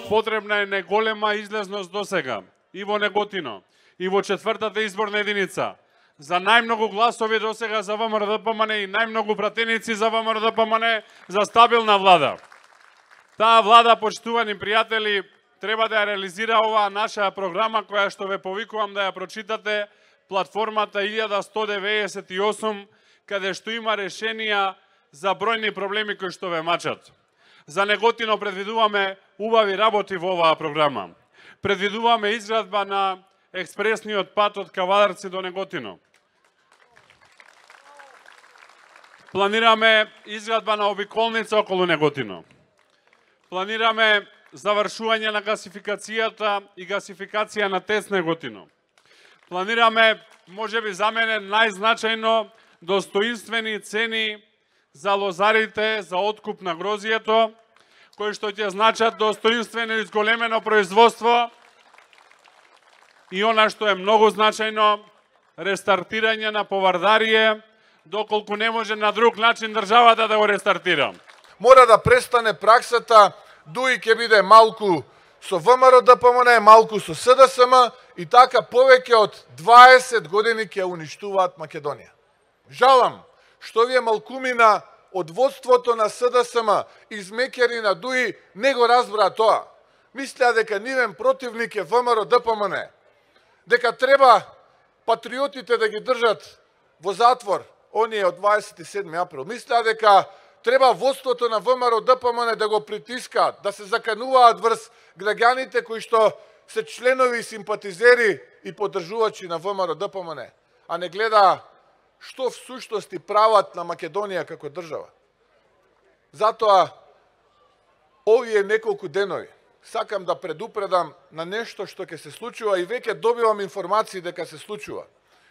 Потребна е неголема излезност досега и во Неготино, и во 4-та изборна единица. За најмногу гласови досега за ВМРО-ДПМН и најмногу пратеници за ВМРО-ДПМН за стабилна влада. Таа влада, почитувани пријатели, треба да ја реализира оваа наша програма која што ве повикувам да ја прочитате, платформата 1198, каде што има решенија за бројни проблеми кои што ве мачат. За Неготино предвидуваме убави работи во оваа програма. Предвидуваме изградба на експресниот пат од Кавадарци до Неготино. Планираме изградба на обиколница околу Неготино. Планираме завршување на гасификацијата и гасификација на ТЕЦ Неготино. Планираме, можеби за мене најзначајно, достоинствени цени за лозарите за откуп на грозието, кои што ќе значат достоинствено изголемено производство и она што е многу значајно, рестартирање на повардарие, доколку не може на друг начин државата да го рестартира. Мора да престане праксата ДУИ ќе биде малку со ВМРО-ДПМН, малку со СДСМ и така повеќе од 20 години ќе уништуваат Македонија. Жалам што вие малкумина од водството на СДСМ измекери на ДУИ не го разбра тоа. Мислеа дека нивен противник е ВМРО-ДПМН, дека треба патриотите да ги држат во затвор, оние од 27 април. Мислеа дека треба водството на ВМРО-ДПМН да го притискаат, да се закануваат врз граѓаните кои што се членови и симпатизери и поддржувачи на ВМРО-ДПМН, а не гледа што в суштости прават на Македонија како држава. Затоа, овие неколку денови, сакам да предупредам на нешто што ќе се случува и веќе добивам информации дека се случува.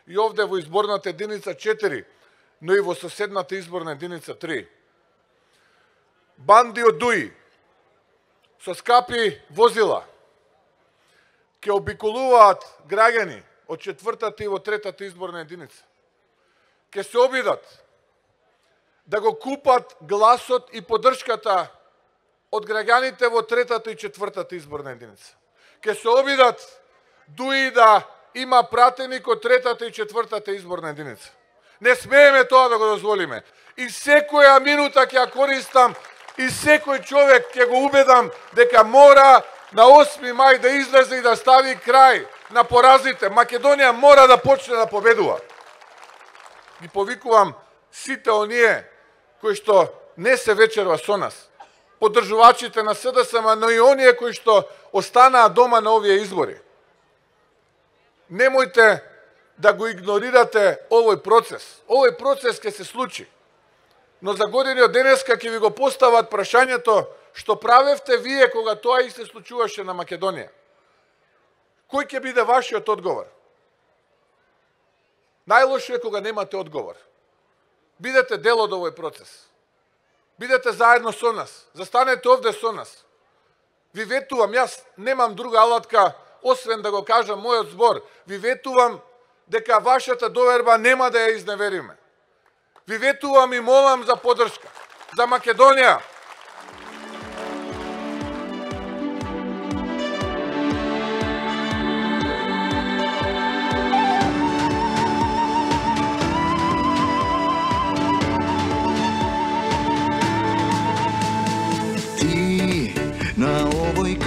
И овде во изборната единица 4, но и во соседната изборна единица 3. Банди од ДУИ со скапи возила ќе обиколуваат граѓани од 4-та и во 3-та изборна единица. Ќе се обидат да го купат гласот и поддршката од граѓаните во 3-та и 4-та изборна единица. Ќе се обидат ДУИ да има пратеник од 3-та и 4-та изборна единица. Не смееме тоа да го дозволиме. И секоја минута ќе ја користам и секој човек ќе го убедам дека мора на 8 мај да излезе и да стави крај на поразите. Македонија мора да почне да победува. Ги повикувам сите оние кои што не се вечерва со нас, поддржувачите на СДСМ, но и оние кои што останаа дома на овие избори. Немојте да го игнорирате овој процес. Овој процес ќе се случи. Но за години од денеска ќе ви го постават прашањето што правевте вие кога тоа и се случуваше на Македонија. Кој ќе биде вашиот одговор? Најлошо е кога немате одговор. Бидете дел од овој процес. Бидете заедно со нас. Застанете овде со нас. Ви ветувам, јас немам друга алатка, освен да го кажам мојот збор. Ви ветувам дека вашата доверба нема да ја изневериме. Ви ветувам и молам за поддршка. За Македонија.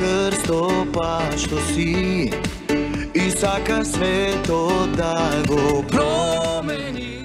Крстопа што си и сака светот да го промени.